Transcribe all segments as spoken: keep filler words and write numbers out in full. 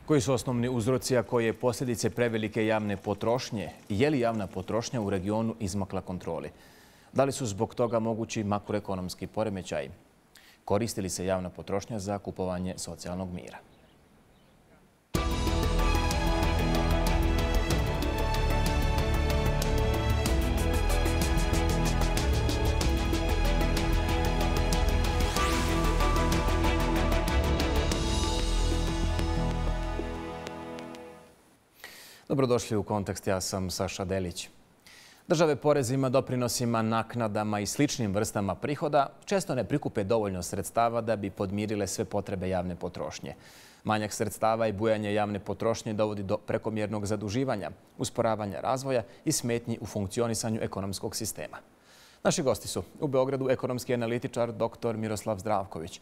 Koji su osnovni uzroci, a koje posljedice prevelike javne potrošnje? Je li javna potrošnja u regionu izmakla kontroli? Da li su zbog toga mogući makroekonomski poremećaji? Koristi li se javna potrošnja za kupovanje socijalnog mira? Dobrodošli u Kontekst, ja sam Saša Delić. Države porezima, doprinosima, naknadama i sličnim vrstama prihoda često ne prikupe dovoljno sredstava da bi podmirile sve potrebe javne potrošnje. Manjak sredstava i bujanje javne potrošnje dovodi do prekomjernog zaduživanja, usporavanja razvoja i smetnji u funkcionisanju ekonomskog sistema. Naši gosti su u Beogradu ekonomski analitičar doktor Miroslav Zdravković,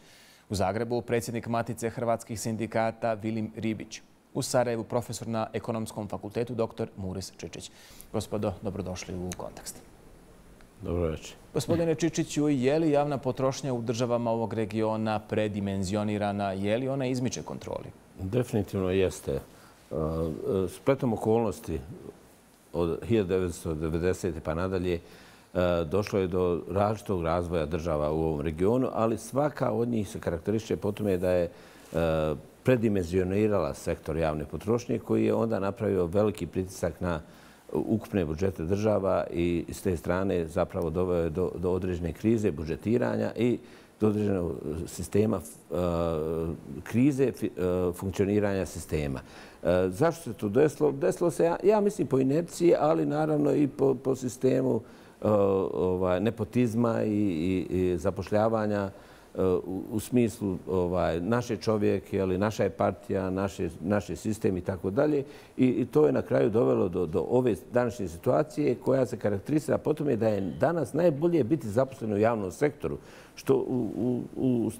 u Zagrebu predsjednik Matice hrvatskih sindikata Vilim Ribić, u Sarajevu profesor na Ekonomskom fakultetu doktor Muris Čičić. Gospodo, dobrodošli u Kontekst. Dobro večer. Gospodine Čičiću, je li javna potrošnja u državama ovog regiona predimenzionirana? Je li ona izmiče kontroli? Definitivno jeste. Spletom okolnosti od hiljadu devetsto devedesete pa nadalje došlo je do različitog razvoja država u ovom regionu, ali svaka od njih se karakteriše po tome da je predimenzionirala sektor javne potrošnje koji je onda napravio veliki pritisak na ukupne budžete država i s te strane zapravo doveo je do, do određene krize budžetiranja i do određenog sistema uh, krize uh, funkcioniranja sistema. Uh, zašto se to desilo? Desilo se, ja, ja mislim, po inerciji, ali naravno i po, po sistemu uh, ovaj, nepotizma i, i, i zapošljavanja U, u smislu ovaj, naše čovjek, jeli, naša je partija, naše, naše sistem i tako dalje. I to je na kraju dovelo do, do ove današnje situacije koja se karakterizira po tome da je danas najbolje biti zaposlen u javnom sektoru, što u, u, u,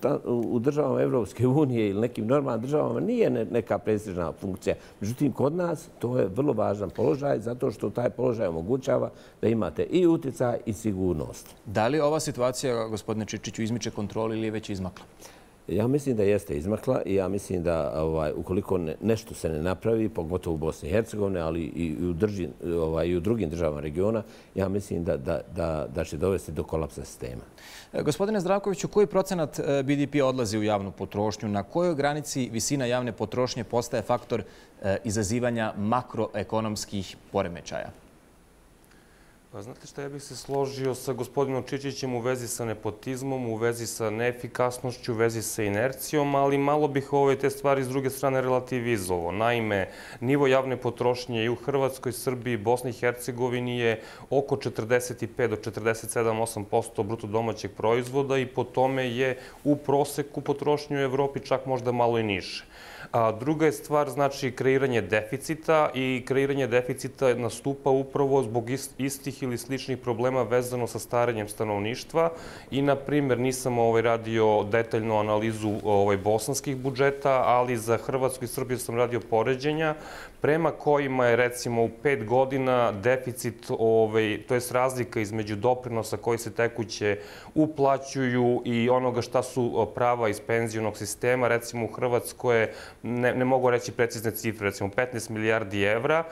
u državama Evropske unije ili nekim normalnim državama nije neka prestižna funkcija. Međutim, kod nas to je vrlo važan položaj zato što taj položaj omogućava da imate i utjecaj i sigurnost. Da li ova situacija, gospodine Čičiću, izmiče kontroli ili je već izmakla? Ja mislim da jeste izmakla i ja mislim da ovaj, ukoliko ne, nešto se ne napravi, pogotovo u Bosni i Hercegovini, ali i u, drži, ovaj, i u drugim državama regiona, ja mislim da, da, da, da će dovesti do kolapsa sistema. Gospodine Zdravkoviću, koji procenat B D P odlazi u javnu potrošnju? Na kojoj granici visina javne potrošnje postaje faktor izazivanja makroekonomskih poremećaja? Pa znate šta, ja bih se složio sa gospodinom Čičićem u vezi sa nepotizmom, u vezi sa neefikasnošću, u vezi sa inercijom, ali malo bih ove te stvari s druge strane relativizovao. Naime, nivo javne potrošnje i u Hrvatskoj, Srbiji, Bosni i Hercegovini je oko četrdeset pet do četrdeset sedam do osam posto bruto domaćeg proizvoda i po tome je u proseku potrošnje u Evropi čak možda malo i niže. A druga je stvar, znači, kreiranje deficita i kreiranje deficita nastupa upravo zbog istih ili sličnih problema vezano sa starenjem stanovništva i, na primjer, nisam ovaj radio detaljnu analizu ovaj bosanskih budžeta, ali za Hrvatsku i Srbiju sam radio poređenja prema kojima je, recimo, u pet godina deficit, ovaj, to je razlika između doprinosa koji se tekuće uplaćuju i onoga šta su prava iz penzionog sistema. Recimo, u Hrvatskoj je, ne, ne mogu reći precizne cifre, recimo petnaest milijardi evra,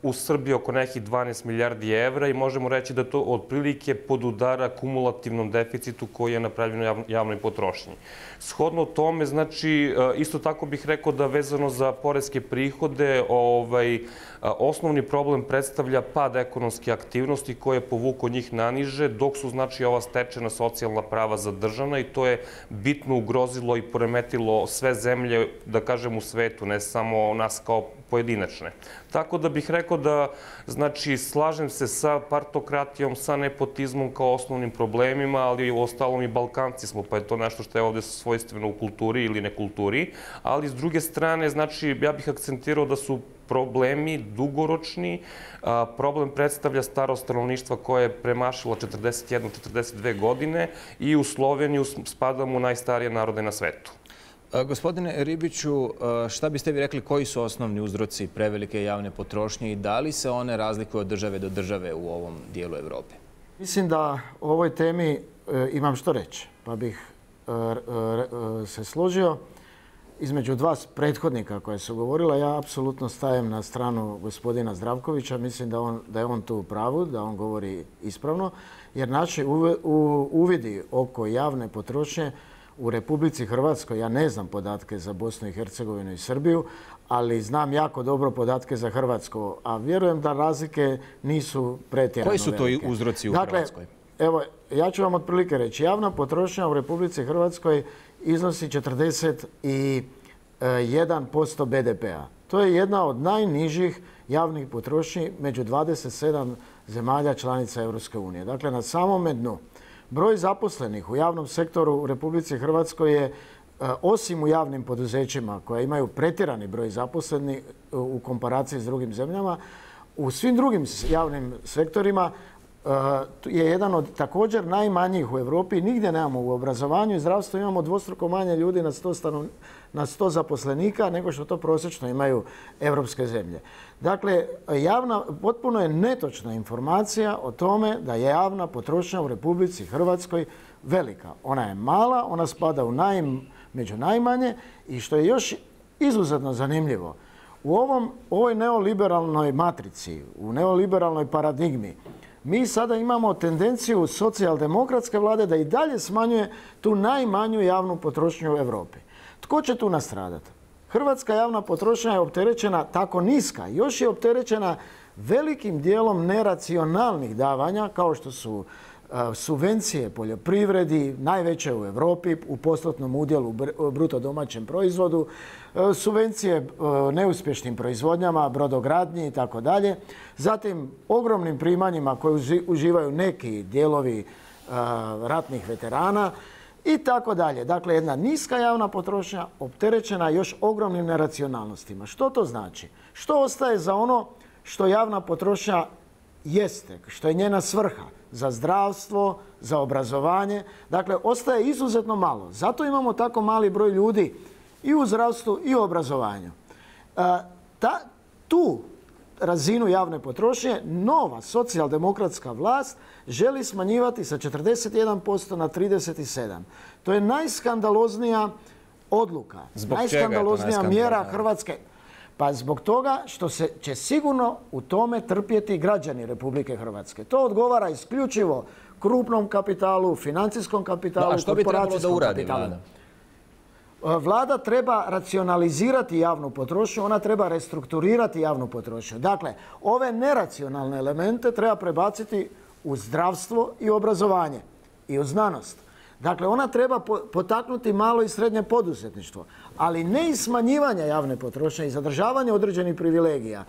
u Srbiji oko nekih dvanaest milijardi evra i možemo reći da to otprilike podudara kumulativnom deficitu koji je napravljen u javnoj potrošnji. Shodno tome, znači, isto tako bih rekao da vezano za poreske prihode, ovaj, osnovni problem predstavlja pad ekonomske aktivnosti koje je povuko njih naniže, dok su, znači, ova stečena socijalna prava zadržana i to je bitno ugrozilo i poremetilo sve zemlje, da kažem, u svetu, ne samo nas kao pojedinačne. Tako da bih rekao da, znači, slažem se sa partokratijom, sa nepotizmom kao osnovnim problemima, ali u ostalom i Balkanci smo, pa je to nešto što je ovdje svojstveno u kulturi ili nekulturi. Ali s druge strane, znači, ja bih akcentirao da su problemi dugoročni. Problem predstavlja starost stanovništva koje je premašilo četrdeset jednu do četrdeset dve godine i u Sloveniju spadamo u najstarije narode na svetu. Gospodine Ribiću, šta biste vi rekli koji su osnovni uzroci prevelike javne potrošnje i da li se one razlikuju od države do države u ovom dijelu Evrope? Mislim da o ovoj temi imam što reći, pa bih se složio. između dva prethodnika koja su govorila, ja apsolutno stajem na stranu gospodina Zdravkovića. Mislim da, on, da je on tu u pravu, da on govori ispravno, jer naši uvidi oko javne potrošnje u Republici Hrvatskoj, ja ne znam podatke za Bosnu i Hercegovinu i Srbiju, ali znam jako dobro podatke za Hrvatsku, a vjerujem da razlike nisu pretjerano velike. Koji su to uzroci u dakle, Hrvatskoj? Evo, ja ću vam otprilike reći. Javna potrošnja u Republici Hrvatskoj iznosi četrdeset jedan posto be de pea. To je jedna od najnižih javnih potrošnji među dvadeset sedam zemalja članica Europske unije. Dakle, na samome dnu. Broj zaposlenih u javnom sektoru u Republici Hrvatskoj je, osim u javnim poduzećima koja imaju pretjerani broj zaposlenih u komparaciji s drugim zemljama, u svim drugim javnim sektorima je jedan od također najmanjih u Europi. Nigdje nemamo u obrazovanju i zdravstvu imamo dvostruko manje ljudi na sto, stanov... na sto zaposlenika nego što to prosječno imaju europske zemlje. Dakle, javna, potpuno je netočna informacija o tome da je javna potrošnja u Republici Hrvatskoj velika. Ona je mala, ona spada u naj, među najmanje i što je još izuzetno zanimljivo, u ovom, ovoj neoliberalnoj matrici, u neoliberalnoj paradigmi, mi sada imamo tendenciju socijaldemokratske vlade da i dalje smanjuje tu najmanju javnu potrošnju u Europi. Tko će tu nastradati? Hrvatska javna potrošnja je opterećena tako niska, još je opterećena velikim dijelom neracionalnih davanja, kao što su subvencije poljoprivredi, najveće u Europi u postotnom udjelu u bruto domaćem proizvodu, subvencije neuspješnim proizvodnjama, brodogradnji i tako dalje. Zatim ogromnim primanjima koje uživaju neki dijelovi ratnih veterana i tako dalje. Dakle, jedna niska javna potrošnja opterećena još ogromnim neracionalnostima. Što to znači? Što ostaje za ono što javna potrošnja jeste, što je njena svrha? Za zdravstvo, za obrazovanje. Dakle, ostaje izuzetno malo. Zato imamo tako mali broj ljudi i u zdravstvu i u obrazovanju. Ta, tu razinu javne potrošnje nova socijaldemokratska vlast želi smanjivati sa četrdeset jedan posto na trideset sedam. To je najskandaloznija odluka. Zbog najskandaloznija mjera Hrvatske. Pa zbog toga što se će sigurno u tome trpjeti građani Republike Hrvatske. To odgovara isključivo krupnom kapitalu, financijskom kapitalu, no, a što bi trebalo da uradi vlada? Vlada treba racionalizirati javnu potrošnju, ona treba restrukturirati javnu potrošnju. Dakle, ove neracionalne elemente treba prebaciti u zdravstvo i obrazovanje i u znanost. Dakle, ona treba potaknuti malo i srednje poduzetništvo, ali ne i smanjivanje javne potrošnje i zadržavanje određenih privilegija,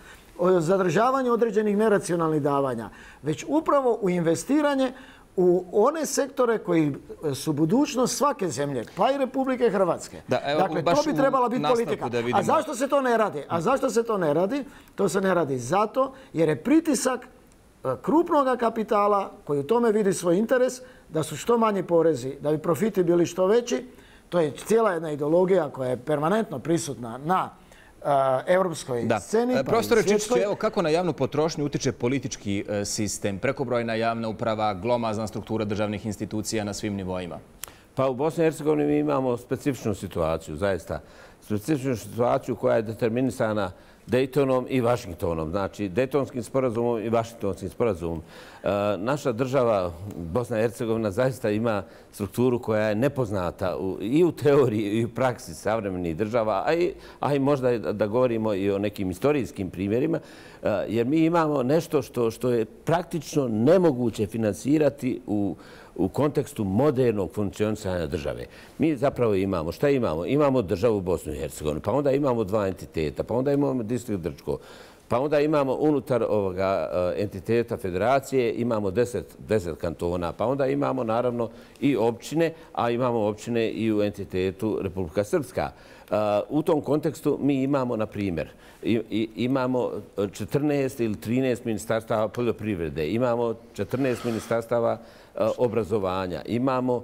zadržavanje određenih neracionalnih davanja, već upravo u investiranje u one sektore koji su budućnost svake zemlje, pa i Republike Hrvatske. Da, evo, dakle, to bi trebala biti politika. A zašto se to ne radi? A zašto se to ne radi? To se ne radi zato jer je pritisak krupnog kapitala koji u tome vidi svoj interes da su što manji porezi, da bi profiti bili što veći. To je cijela jedna ideologija koja je permanentno prisutna na uh, europskoj da. sceni. Pa Profesore Čičiću, evo kako na javnu potrošnju utiče politički uh, sistem, prekobrojna javna uprava, glomazna struktura državnih institucija na svim nivoima? Pa u Bosni i Hercegovini mi imamo specifičnu situaciju, zaista. Specifičnu situaciju koja je determinisana Daytonom i Vašingtonom, znači Daytonskim sporazumom i Vašingtonskim sporazumom. E, naša država, Bosna i Hercegovina, zaista ima strukturu koja je nepoznata u, i u teoriji i u praksi savremenih država, a i, a i možda da govorimo i o nekim istorijskim primjerima, e, jer mi imamo nešto što, što je praktično nemoguće finansirati u u kontekstu modernog funkcionisanja države. Mi zapravo imamo, šta imamo? Imamo državu Bosnu i Hercegovinu, pa onda imamo dva entiteta, pa onda imamo distrikt Drčko, pa onda imamo unutar ovoga entiteta federacije, imamo deset, deset kantona, pa onda imamo naravno i općine, a imamo općine i u entitetu Republika Srpska. U tom kontekstu mi imamo, na primjer, imamo četrnaest ili trinaest ministarstava poljoprivrede, imamo četrnaest ministarstava obrazovanja, imamo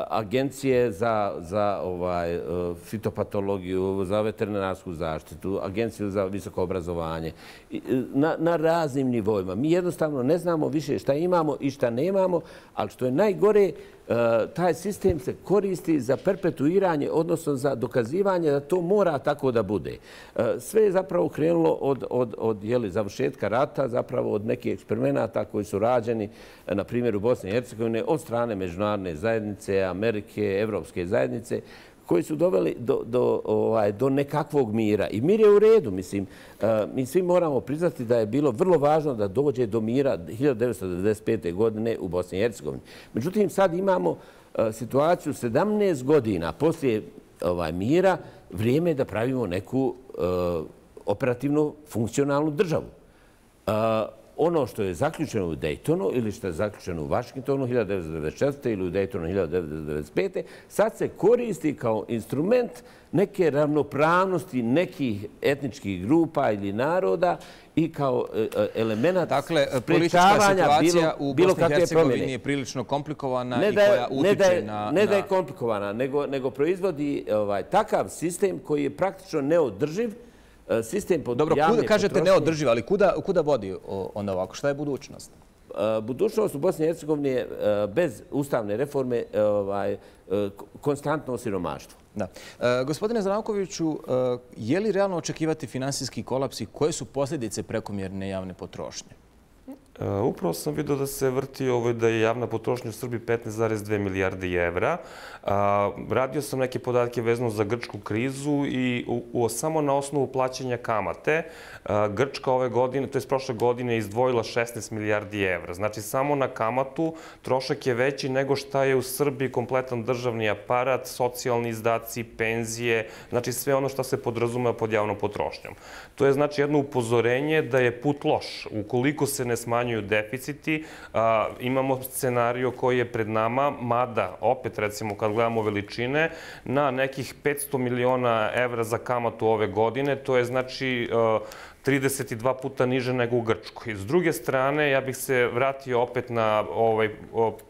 agencije za, za ovaj, fitopatologiju, za veterinarsku zaštitu, agenciju za visoko obrazovanje, na, na raznim nivoima. Mi jednostavno ne znamo više šta imamo i šta nemamo, ali što je najgore, taj sistem se koristi za perpetuiranje, odnosno za dokazivanje da to mora tako da bude. Sve je zapravo krenulo od, od, od jeli, završetka rata, zapravo od nekih eksperimenata koji su rađeni, na primjer u Bosni i Hercegovini, od strane međunarodne zajednice, Amerike, Evropske zajednice, koji su doveli do, do, ovaj, do nekakvog mira. I mir je u redu, mislim. Mi svi moramo priznati da je bilo vrlo važno da dođe do mira hiljadu devetsto devedeset pete. godine u Bosni i Hercegovini. Međutim, sad imamo situaciju sedamnaest godina poslije ovaj, mira, vrijeme je da pravimo neku operativnu, funkcionalnu državu. Ono što je zaključeno u Daytonu ili što je zaključeno u Washingtonu hiljadu devetsto devedeset četvrte ili u Daytonu hiljadu devetsto devedeset pete. sad se koristi kao instrument neke ravnopravnosti nekih etničkih grupa ili naroda i kao element dakle, politička situacija u Bosni i Hercegovini je prilično komplikovana i koja utiče na... Ne da je komplikovana, nego, nego proizvodi ovaj, takav sistem koji je praktično neodrživ, sistem pod Dobro, javne kuda, kažete potrošnje. neodrživ, ali kuda, kuda vodi onda ovako? Šta je budućnost? Budućnost u Bosni i Hercegovini je bez ustavne reforme ovaj, konstantno siromaštvo. Da. E, gospodine Zdravkoviću, e, je li realno očekivati finansijski kolaps i koje su posljedice prekomjerne javne potrošnje? Uh, upravo sam vidio da se vrti ovo da je javna potrošnja u Srbiji petnaest zarez dve milijarde evra. Uh, radio sam neke podatke vezano za grčku krizu i u, u, samo na osnovu plaćanja kamate uh, Grčka ove godine, to je prošle godine, izdvojila šesnaest milijardi evra. Znači, samo na kamatu trošak je veći nego šta je u Srbiji kompletan državni aparat, socijalni izdaci, penzije, znači sve ono što se podrazumeva pod javnom potrošnjom. To je znači jedno upozorenje da je put loš. Ukoliko se ne smanjuju deficiti, a, imamo scenario koji je pred nama, mada, opet recimo kad gledamo veličine, na nekih petsto miliona evra za kamatu ove godine, to je znači a, trideset dva puta niže nego u Grčkoj. S druge strane, ja bih se vratio opet na ovaj,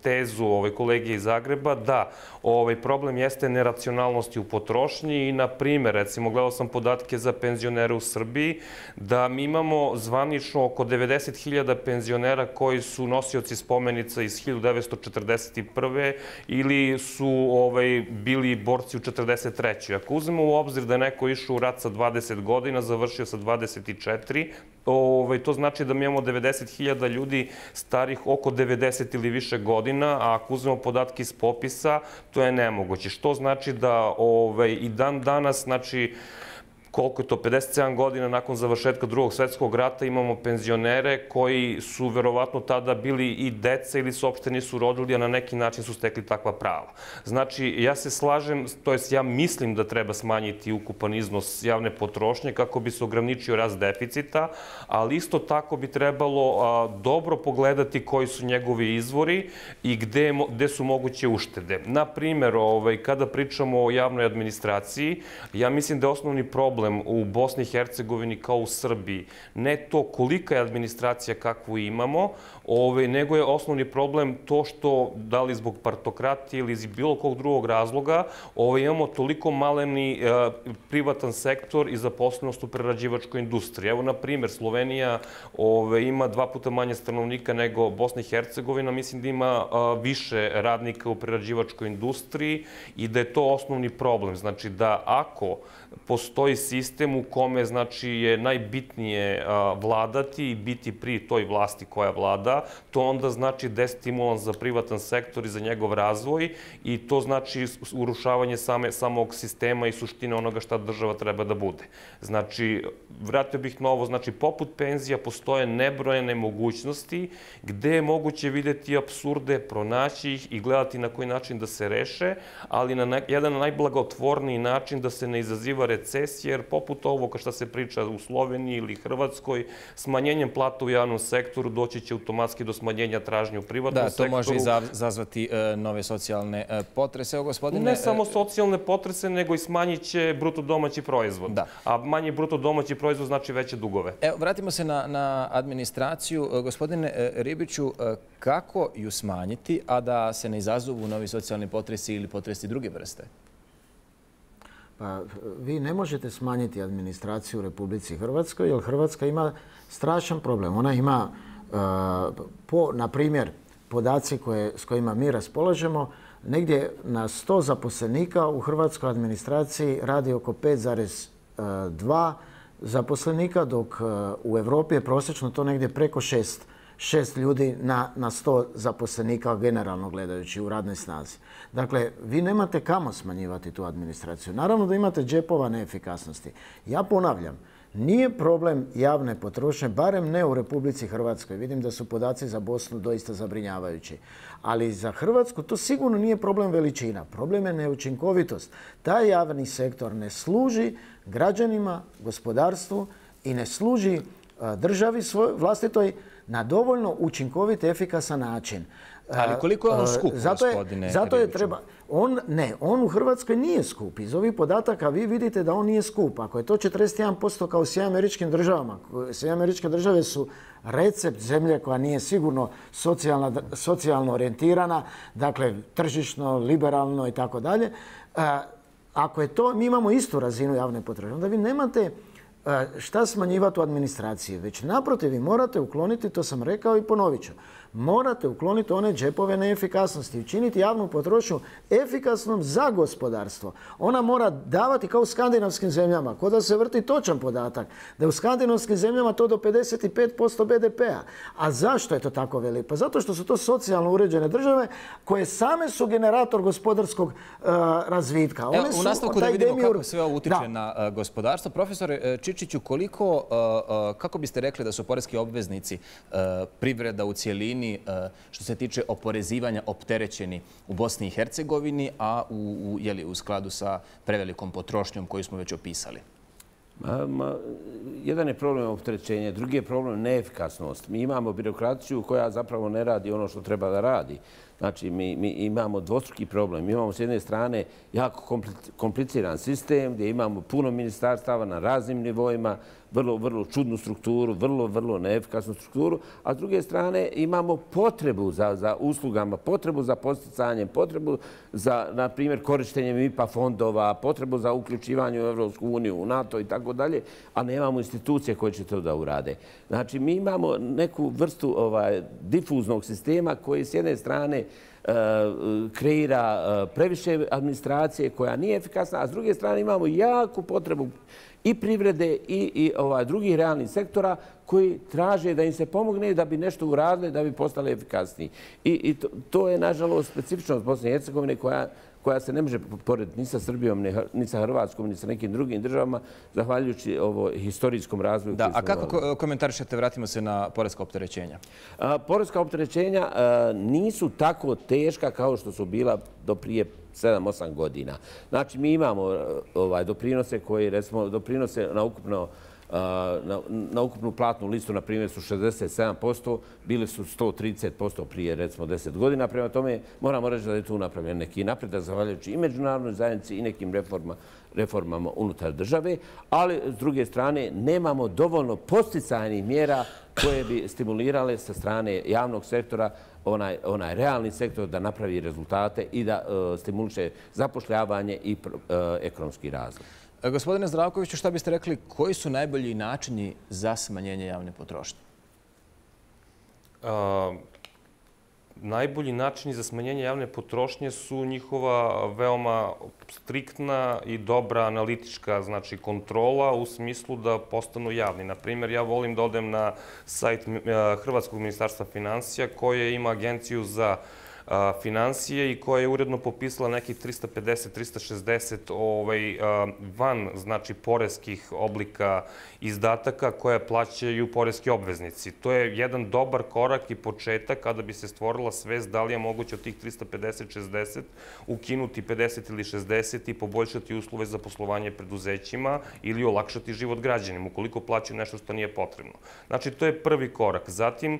tezu ovaj, kolege iz Zagreba, da ovaj, problem jeste neracionalnosti u potrošnji i, na primjer, recimo, gledao sam podatke za penzionere u Srbiji, da mi imamo zvanično oko devedeset hiljada penzionera koji su nosioci spomenica iz hiljadu devetsto četrdeset prve. ili su ovaj, bili borci u četrdeset trećoj. Ako uzmemo u obzir da je neko išao u rat sa dvadeset godina, završio sa dvadeset četiri, ovaj, to znači da mi imamo devedeset hiljada ljudi starih oko devedeset ili više godina, a ako uzmemo podatke iz popisa, to je nemoguće. Što znači da ovaj, i dan danas, znači, koliko je to, pedeset sedam godina nakon završetka drugog svjetskog rata, imamo penzionere koji su verovatno tada bili i deca ili se uopšte nisu rodili, a na neki način su stekli takva prava. Znači, ja se slažem, to jest ja mislim da treba smanjiti ukupan iznos javne potrošnje kako bi se ograničio rast deficita, ali isto tako bi trebalo a, dobro pogledati koji su njegovi izvori i gde, gde su moguće uštede. Na primjer, ovaj, kada pričamo o javnoj administraciji, ja mislim da je osnovni problem u Bosni i Hercegovini kao u Srbiji ne to kolika je administracija kakvu imamo, ovaj, nego je osnovni problem to što, da li zbog partokratije ili iz bilo kog drugog razloga, ovaj, imamo toliko maleni eh, privatan sektor i zaposlenost u prerađivačkoj industriji. Evo, na primjer, Slovenija ovaj, ima dva puta manje stanovnika nego Bosna i Hercegovina, mislim da ima eh, više radnika u prerađivačkoj industriji i da je to osnovni problem. Znači da ako postoji sistem u kome znači, je najbitnije a, vladati i biti pri toj vlasti koja vlada, to onda znači destimulans za privatan sektor i za njegov razvoj i to znači urušavanje same, samog sistema i suštine onoga šta država treba da bude. Znači, vratio bih na ovo, znači, poput penzija postoje nebrojene mogućnosti gde je moguće videti apsurde, pronaći ih i gledati na koji način da se reše, ali na ne, jedan najblagotvorniji način da se ne izaziva recesija, jer poput ovoga što se priča u Sloveniji ili Hrvatskoj, smanjenjem plata u javnom sektoru doći će automatski do smanjenja tražnje u privatnom sektoru. Da, to može izazvati e, nove socijalne e, potrese. Evo, gospodine, ne samo socijalne potrese, nego i smanjit će bruto domaći proizvod. Da. A manji bruto domaći proizvod znači veće dugove. Evo, vratimo se na, na administraciju. Gospodine Ribiću, kako ju smanjiti, a da se ne izazovu novi socijalni potresi ili potresi druge vrste? Pa, vi ne možete smanjiti administraciju u Republici Hrvatskoj, jer Hrvatska ima strašan problem. Ona ima, uh, po, na primjer, podaci koje, s kojima mi raspolažemo, negdje na sto zaposlenika u hrvatskoj administraciji radi oko pet zarez dva zaposlenika, dok u Europi je prosječno to negdje preko šest, šest ljudi na, na sto zaposlenika generalno gledajući u radnoj snazi. Dakle, vi nemate kamo smanjivati tu administraciju. Naravno da imate džepova neefikasnosti. Ja ponavljam, nije problem javne potrošnje, barem ne u Republici Hrvatskoj. Vidim da su podaci za Bosnu doista zabrinjavajući. Ali za Hrvatsku to sigurno nije problem veličina. Problem je neučinkovitost. Taj javni sektor ne služi građanima, gospodarstvu i ne služi državi svoj, vlastitoj na dovoljno učinkovit, efikasan način. Ali koliko je on skup, zato je, gospodine zato je Ribiću? treba, on, ne, on u Hrvatskoj nije skup. Iz ovih podataka vi vidite da on nije skup. Ako je to četrdeset jedan posto kao u Sjedinjenim Američkim Državama, Sjedinjene Američke Države su recept zemlje koja nije sigurno socijalna, socijalno orijentirana, dakle tržišno, liberalno i tako dalje. Ako je to, mi imamo istu razinu javne potrošnje, onda vi nemate šta smanjivati u administraciji, već naprotiv vi morate ukloniti, to sam rekao i ponovit ću, morate ukloniti one džepove neefikasnosti i učiniti javnu potrošnju efikasnom za gospodarstvo. Ona mora davati kao u skandinavskim zemljama, kod da se vrti točan podatak, da je u skandinavskim zemljama to do pedeset pet posto be de pea. A zašto je to tako veliko? Pa zato što su to socijalno uređene države koje same su generator gospodarskog uh, razvitka. Evo, u nastavku da vidimo kako sve ovo utiče da. na uh, gospodarstvo. Profesore Čičiću, koliko, uh, uh, kako biste rekli da su poreski obveznici uh, privreda u cijelini što se tiče oporezivanja opterećeni u Bosni i Hercegovini, a u, u, jeli, u skladu sa prevelikom potrošnjom koju smo već opisali? Ma, ma, jedan je problem opterećenja, drugi je problem neefikasnost. Mi imamo birokraciju koja zapravo ne radi ono što treba da radi. Znači, mi, mi imamo dvostruki problem. Mi imamo s jedne strane jako kompliciran sistem gdje imamo puno ministarstava na raznim nivoima, vrlo, vrlo čudnu strukturu, vrlo, vrlo neefikasnu strukturu, a s druge strane imamo potrebu za, za uslugama, potrebu za posticanjem, potrebu za, na primjer, korištenjem I P A fondova, potrebu za uključivanje u Evropsku uniju, u NATO i tako dalje, a nemamo institucije koje će to da urade. Znači, mi imamo neku vrstu ovaj, difuznog sistema koji s jedne strane kreira previše administracije koja nije efikasna, a s druge strane imamo jaku potrebu i privrede i, i ovaj, drugih realnih sektora koji traže da im se pomogne da bi nešto uradili, da bi postali efikasniji. I, i to, to je, nažalost, specifičnost Bosne i Hercegovine koja, koja se ne može porediti ni sa Srbijom, ni sa Hrvatskom, ni sa nekim drugim državama, zahvaljujući ovo historijskom razvoju. Da, a kako ko komentarišete, vratimo se na poreska opterećenja? A, poreska opterećenja a, nisu tako teška kao što su bila do prije sedam osam godina. Znači, mi imamo ovaj, doprinose koji, recimo, doprinose na ukupno Na, na ukupnu platnu listu, na primjer, su šezdeset sedam posto, bili su sto trideset posto prije, recimo, deset godina. Prema tome, moramo reći da je tu napravljen neki napredak, zahvaljujući i međunarodnoj zajednici i nekim reforma, reformama unutar države, ali, s druge strane, nemamo dovoljno posticajnih mjera koje bi stimulirale sa strane javnog sektora onaj, onaj realni sektor da napravi rezultate i da uh, stimuliše zapošljavanje i uh, ekonomski razvoj. Gospodine Zdravkoviću, šta biste rekli, koji su najbolji načini za smanjenje javne potrošnje? A, najbolji načini za smanjenje javne potrošnje su njihova veoma striktna i dobra analitička, znači, kontrola u smislu da postanu javni. Na primjer, ja volim da odem na sajt Hrvatskog ministarstva finansija koje ima agenciju za finansije i koja je uredno popisala nekih trista pedeset do trista šezdeset ovaj, van, znači, poreskih oblika izdataka koje plaćaju poreski obveznici. To je jedan dobar korak i početak kada bi se stvorila svest da li je moguće od tih trista pedeset do šezdeset ukinuti pedeset ili šezdeset i poboljšati uslove za poslovanje preduzećima ili olakšati život građanima ukoliko plaćaju nešto što nije potrebno. Znači, to je prvi korak. Zatim,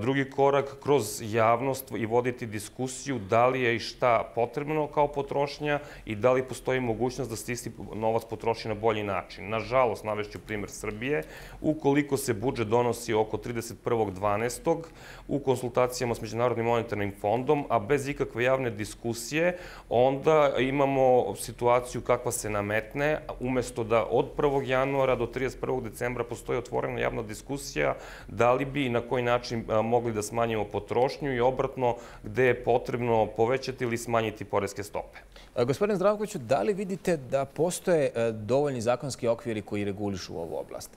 drugi korak kroz javnost i voditi diskusiju da li je i šta potrebno kao potrošnja i da li postoji mogućnost da se isti novac potroši na bolji način. Nažalost, navešću primjer Srbije, ukoliko se budžet donosi oko trideset prvog dvanaestog u konsultacijama s Međunarodnim monetarnim fondom, a bez ikakve javne diskusije, onda imamo situaciju kakva se nametne, umjesto da od prvog januara do trideset prvog decembra postoji otvorena javna diskusija da li bi i na koji način mogli da smanjimo potrošnju i obratno gde gde je potrebno povećati ili smanjiti poreske stope. Gospodine Zdravkoviću, da li vidite da postoje dovoljni zakonski okviri koji regulišu ovu oblast?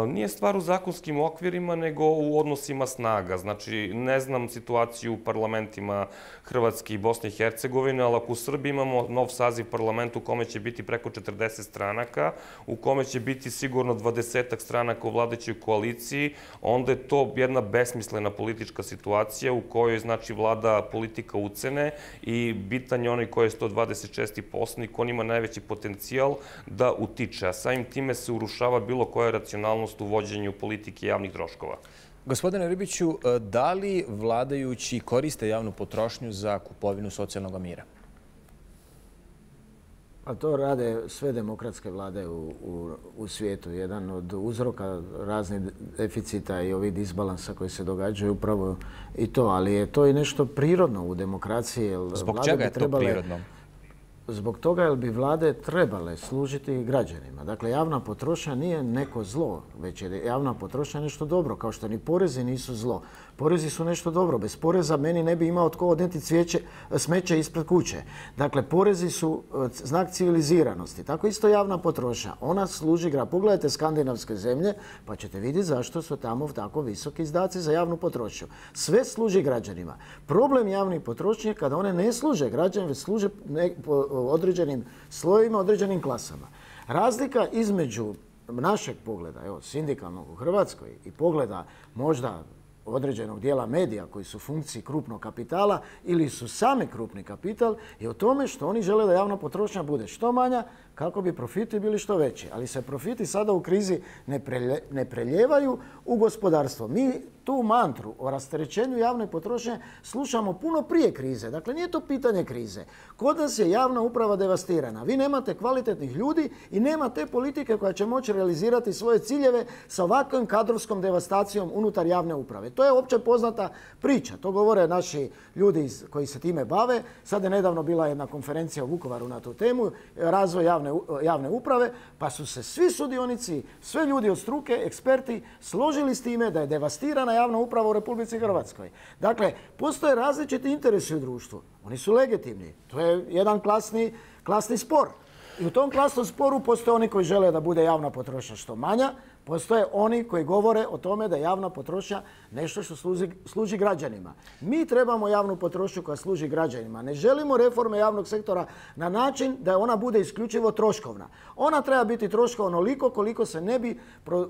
Nije stvar u zakonskim okvirima, nego u odnosima snaga. Znači, ne znam situaciju u parlamentima Hrvatske i Bosne i Hercegovine, ali ako u Srbiji imamo nov saziv parlamenta u kome će biti preko četrdeset stranaka, u kome će biti sigurno dvadesetak stranaka u vladajućoj koaliciji, onda je to jedna besmislena politička situacija u kojoj, znači, vlada politika ucene i bitan je onaj koji je sto dvadeset šesti poslanik, on ima najveći potencijal da utiče, a samim time se urušava bilo koja racionalnost u vođenju politike javnih troškova. Gospodine Ribiću, da li vladajući koriste javnu potrošnju za kupovinu socijalnog mira? A to rade sve demokratske vlade u, u, u svijetu. Jedan od uzroka raznih deficita i ovih disbalansa koji se događaju upravo i to. Ali je to i nešto prirodno u demokraciji. Zbog čega je to prirodno? Zbog toga jer bi vlade trebale služiti građanima. Dakle, javna potrošnja nije neko zlo, već je javna potrošnja nešto dobro, kao što ni porezi nisu zlo. Porezi su nešto dobro. Bez poreza meni ne bi imao tko odneti cvijeće, smeće ispred kuće. Dakle, porezi su znak civiliziranosti. Tako isto javna potrošnja. Ona služi građanima. Pogledajte skandinavske zemlje, pa ćete vidjeti zašto su tamo tako visoki izdaci za javnu potrošnju. Sve služi građanima. Problem javnih potrošnje je kada one ne služe građanima, već služe ne, određenim slojevima, određenim klasama. Razlika između našeg pogleda, evo, sindikalnog u Hrvatskoj i pogleda možda određenog dijela medija koji su u funkciji krupnog kapitala ili su sami krupni kapital je u tome što oni žele da javna potrošnja bude što manja kako bi profiti bili što veći. Ali se profiti sada u krizi ne, prelje, ne preljevaju u gospodarstvo. Mi tu mantru o rasterećenju javne potrošnje slušamo puno prije krize. Dakle, nije to pitanje krize. Kod nas je javna uprava devastirana. Vi nemate kvalitetnih ljudi i nema te politike koja će moći realizirati svoje ciljeve sa ovakvom kadrovskom devastacijom unutar javne uprave. To je opće poznata priča. To govore naši ljudi koji se time bave. Sad je nedavno bila jedna konferencija u Vukovaru na tu temu, razvoj javne, javne uprave, pa su se svi sudionici, sve ljudi od struke, eksperti, složili s time da je devastirana javna uprava u Republici Hrvatskoj. Dakle, postoje različiti interesi u društvu. Oni su legitimni. To je jedan klasni, klasni spor. I u tom klasnom sporu postoje oni koji žele da bude javna potrošnja što manja, postoje oni koji govore o tome da je javna potrošnja nešto što služi, služi građanima. Mi trebamo javnu potrošnju koja služi građanima. Ne želimo reforme javnog sektora na način da ona bude isključivo troškovna. Ona treba biti troškovna onoliko koliko se ne bi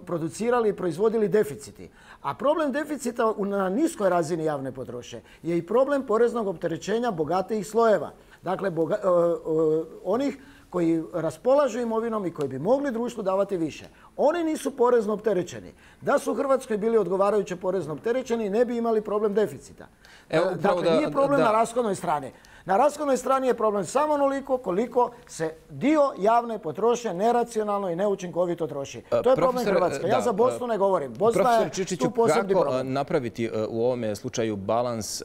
producirali i proizvodili deficiti. A problem deficita na niskoj razini javne potrošnje je i problem poreznog opterećenja bogatijih slojeva. Dakle, boga, uh, uh, onih koji raspolažu imovinom i koji bi mogli društvu davati više. Oni nisu porezno opterećeni. Da su u Hrvatskoj bili odgovarajuće porezno opterećeni, ne bi imali problem deficita. Evo, dakle, da, nije problem da, na rashodnoj strani. Na rashodnoj strani je problem samo onoliko koliko se dio javne potrošnje neracionalno i neučinkovito troši. To je problem Hrvatske. Ja za Bosnu ne govorim. Bosna je tu posebni problem. Kako napraviti u ovome slučaju balans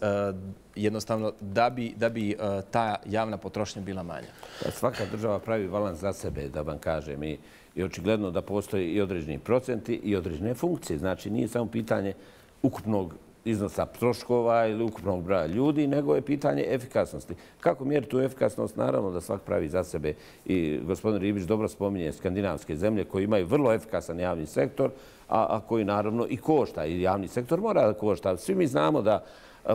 jednostavno da bi, da bi ta javna potrošnja bila manja? Svaka država pravi balans za sebe, da vam kažem. I, i očigledno da postoji i određeni procenti i određene funkcije. Znači, nije samo pitanje ukupnog iznosa troškova ili ukupnog broja ljudi, nego je pitanje efikasnosti. Kako mjeriti tu efikasnost? Naravno da svak pravi za sebe. I gospodin Ribić dobro spominje skandinavske zemlje koji imaju vrlo efikasan javni sektor, a, a koji naravno i košta. I javni sektor mora da košta. Svi mi znamo da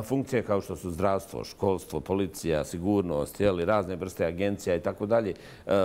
funkcije kao što su zdravstvo, školstvo, policija, sigurnost, jeli, razne vrste agencija i tako dalje,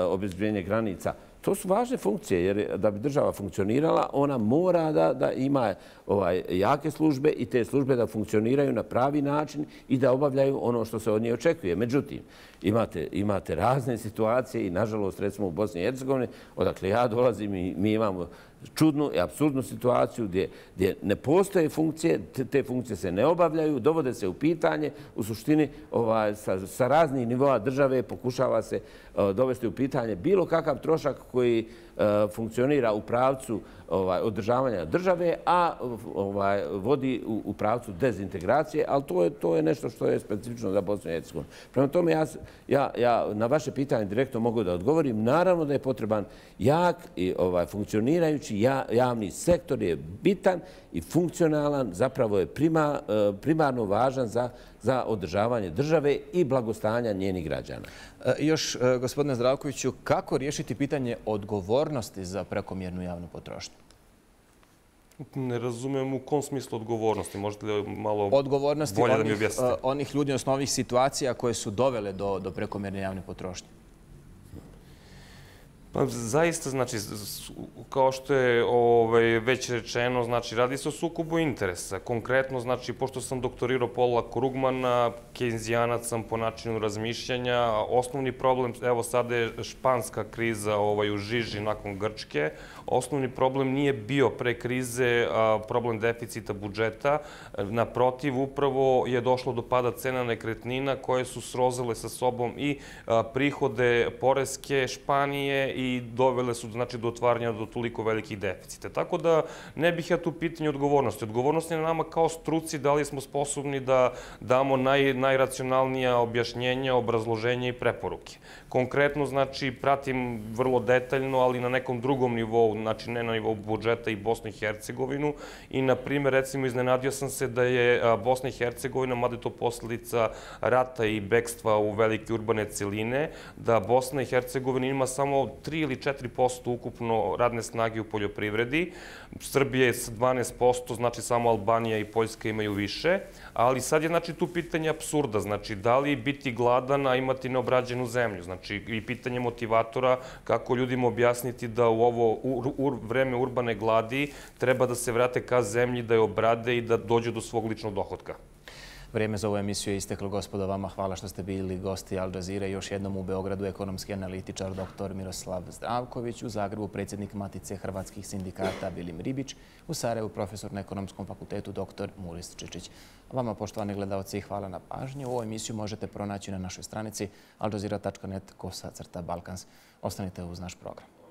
obezbeđenje granica. To su važne funkcije jer da bi država funkcionirala, ona mora da, da ima ovaj, jake službe i te službe da funkcioniraju na pravi način i da obavljaju ono što se od nje očekuje. Međutim, imate, imate razne situacije i nažalost recimo u Bosni i Hercegovini, odakle ja dolazim i mi imamo čudnu i apsurdnu situaciju gdje, gdje ne postoje funkcije, te, te funkcije se ne obavljaju, dovode se u pitanje, u suštini ovaj, sa, sa raznih nivoa države pokušava se uh, dovesti u pitanje bilo kakav trošak koji funkcionira u pravcu održavanja države, a vodi u pravcu dezintegracije, ali to je nešto što je specifično za Bosnu i Hercegovinu. Prema tome, ja na vaše pitanje direktno mogu da odgovorim. Naravno da je potreban jak i funkcionirajući javni sektor, je bitan i funkcionalan, zapravo je primarno važan za održavanje države i blagostanja njenih građana. Još, gospodine Zdravkoviću, kako riješiti pitanje odgovornosti za prekomjernu javnu potrošnju? Ne razumem u kom smislu odgovornosti. Možete li malo odgovornosti bolje da mi objasnite? Odgovornosti onih ljudi, odnosno ovih situacija koje su dovele do prekomjerne javne potrošnje. Pa zaista, znači, kao što je već rečeno, znači, radi se o sukobu interesa. Konkretno, znači, pošto sam doktorirao Paula Krugmana, kejnzijanac sam po načinu razmišljanja, osnovni problem, evo sada je španska kriza u žiži nakon Grčke, osnovni problem nije bio pre krize problem deficita budžeta. Naprotiv, upravo je došlo do pada cena nekretnina koje su srozale sa sobom i prihode poreske Španije i dovele su do otvaranja do toliko velikih deficita. Tako da ne bih ja tu pitanje odgovornosti. Odgovornost je na nama kao struci da li smo sposobni da damo najracionalnija objašnjenja, obrazloženja i preporuke. Konkretno, znači, pratim vrlo detaljno, ali na nekom drugom nivou, znači ne na nivou budžeta i Bosnu i Hercegovinu. I, na primjer, recimo, iznenadio sam se da je Bosna i Hercegovina, mada je to posljedica rata i bekstva u velike urbane celine, da Bosna i Hercegovina ima samo tri ili četiri posto ukupno radne snage u poljoprivredi. Srbija je sa dvanaest posto, znači samo Albanija i Poljska imaju više. Ali sad je, znači, tu pitanje apsurda. Znači, da li biti gladan, a imati neobrađenu zemlju? Znači, i pitanje motivatora kako ljudima objasniti da u ovo vreme urbane gladi treba da se vrate ka zemlji, da je obrade i da dođu do svog ličnog dohotka. Vrijeme za ovu emisiju je isteklo, gospodo. Vama hvala što ste bili gosti Al Jazeera. Još jednom u Beogradu ekonomski analitičar doktor Miroslav Zdravković, u Zagrebu predsjednik Matice hrvatskih sindikata Vilim Ribić, u Sarajevu profesor na Ekonomskom fakultetu doktor Muris Čičić. Vama, poštovani gledalci, hvala na pažnju. Ovu emisiju možete pronaći na našoj stranici al jazeera tačka net kosa crta balkans. Ostanite uz naš program.